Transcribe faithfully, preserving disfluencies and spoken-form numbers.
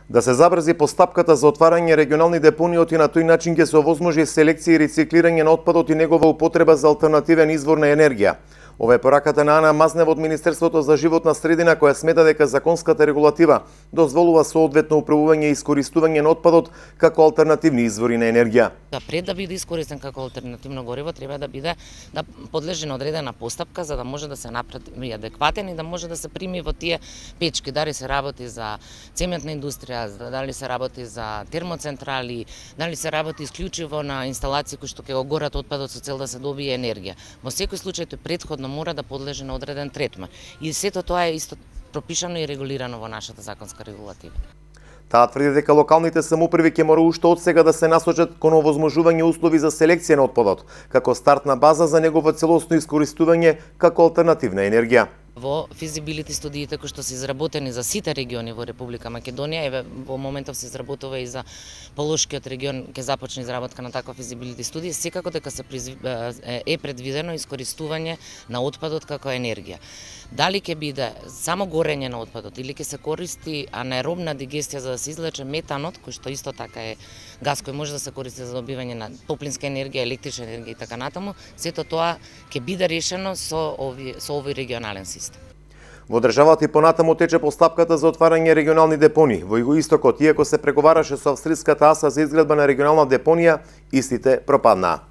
Да се забрзи постапката за отварање регионални депониот и на тој начин ќе се овозможи селекција и рециклирање на отпадот и негова употреба за алтернативен извор на енергија. Ова е пораката на Ана Мазнева од Министерството за животна средина, која смета дека законската регулатива дозволува соодветно управување и искористување на отпадот како алтернативни извори на енергија. Да пред да биде искористен како алтернативно гориво, треба да биде да подлежи на одредена постапка за да може да се направи адекватен и да може да се прими во тие печки, дали се работи за цементна индустрија, дали се работи за термоцентрали, дали се работи исклучиво на инсталации кои што ќе го горат отпадот со цел да се добие енергија. Во секој случај тој претходно мора да подлежи на одреден третман. И сето тоа е исто пропишано и регулирано во нашата законска регулатива. Таа тврди дека локалните самоуправи ќе мора уште од сега да се насочат кон овозможување услови за селекција на отпадот, како стартна база за негово целосно искористување како алтернативна енергија. Во физибилити студиите кои што се изработени за сите региони во Република Македонија, еве во моментов се изработува и за Полошкиот регион, ќе започне изработка на таква физибилити студија, секако дека се е предвидено искористување на отпадот како енергија. Дали ќе биде само горење на отпадот или ќе се користи анаеробна дигестија за да се извлече метанот, кој што исто така е газ кој може да се користи за добивање на топлинска енергија, електрична енергија и така натаму, сето тоа ќе биде решено со овој со овој регионален систем. Во државата и понатаму тече постапката за отварање регионални депонии. Во Југоистокот, иако се преговараше со австриската АСА за изградба на регионална депонија, истите пропаднаа.